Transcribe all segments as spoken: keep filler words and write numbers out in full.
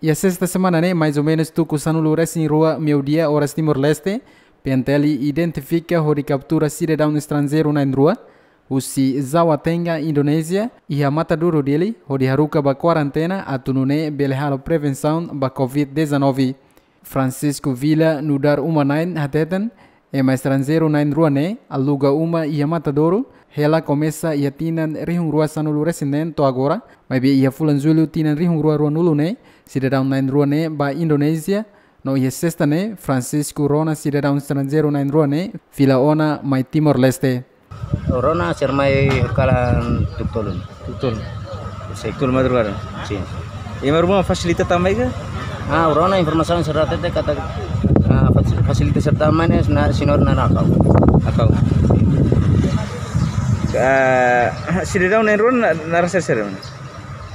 Iha sesta semana ne'e, mais ou menus tuku sanulu-resin-rua meiudia oras Timor-Leste, P N T L identifika hodi kaptura sidadaun estranjeiru na'in-rua, husi Jawatenga, Indonézia, iha Matadouro, Dili, hodi haruka ba kuarentena atu nune'e bele halo prevensaun ba covid dezanove. Francisco Villa nu'udar uma-na'in hateten, ema estranjeiru na'in-rua ne'e aluga uma iha Matadouro hela komesa iha tinan rihun rua sanulu-resin-neen to'o agora, maibé iha fulan Jullu tinan rihun rua ruanulu ne'e, sidadaun na'in-rua ne'e bá Indonézia, no iha sesta ne'e, Francisco rona sidadaun estranjeiru na'in-rua ne'e fila ona mai Timor-Leste. Rona sira mai kalan tuku tolu. Tuku tolu. Tuku tolu madrugada. Sin. Ema ruma fasilita tama mai ka? Ah, rona informasaun sira hatete katak, ah, fas-, fasilita sira tama mai ne'e, na, señór na'in-rua. Akau. Ah, sidadaun na'in-rua na, naran sira-sira?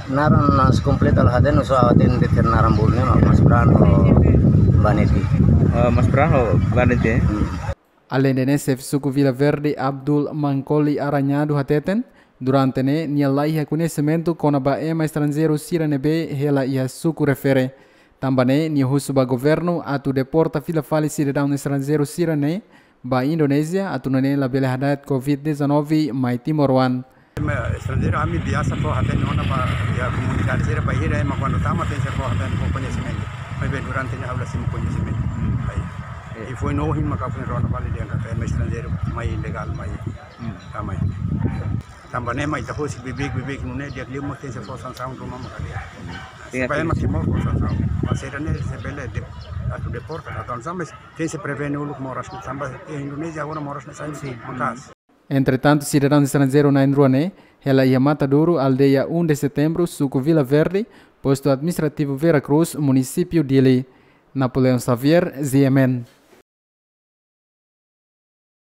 Naran na kompletu la hatene, só hatene de'it naran bolu ne'e, Mas Bran ho Baneti. Oh, Mas Bran ho Baneti, eh? Hmm. Aleinde ne'e, xefe suku Vila Verde, Abdul Mankoli Aranhado hateten, durante ne'e nia la iha koñesimentu kona-ba ema estranjeiru sira ne'ebé hela iha suku refere. Tanba ne'e, nia husu ba governu atu deporta fila fali sidadaun estranjeiru sira ne'e ba Indonézia atu nune'e labele hada'et covid dezanove mai timoroan. Ema estranjeiru ami biasa fó hatene ona ba iha komunidade sira, bainhira ema kuandu tama tenke fó hatene fó koñesimentu. Maibé durante ne'e ha'u la simu koñesimentu. Hmm. Ai. Eh. I foin ohin maka foin rona fali dehan katak ema estranjeiru mai ilegál mai. Hmm. Tama mai. Tanba ne'e mai ita husik beibeik beibeik nune'e di'ak liu mak tenke fó sansaun ruma maka di'ak. Tenke. Supaya ema Timor fó sansaun. Mas sira ne'e se bele de-, atu deporta, atu hanesan, mas tenke prevene uluk moras ne'e, tanba iha Indonézia agora moras ne'e sai. Sin. Maka'as. Entretantu, sidadaun estranjeiru na'in-rua ne'e hela iha Matadouro, aldeia um de Setembro, suku Vila Verde, postu administrativu Vera Cruz, munisípiu Dili. Napoleão Xavier, Z M N.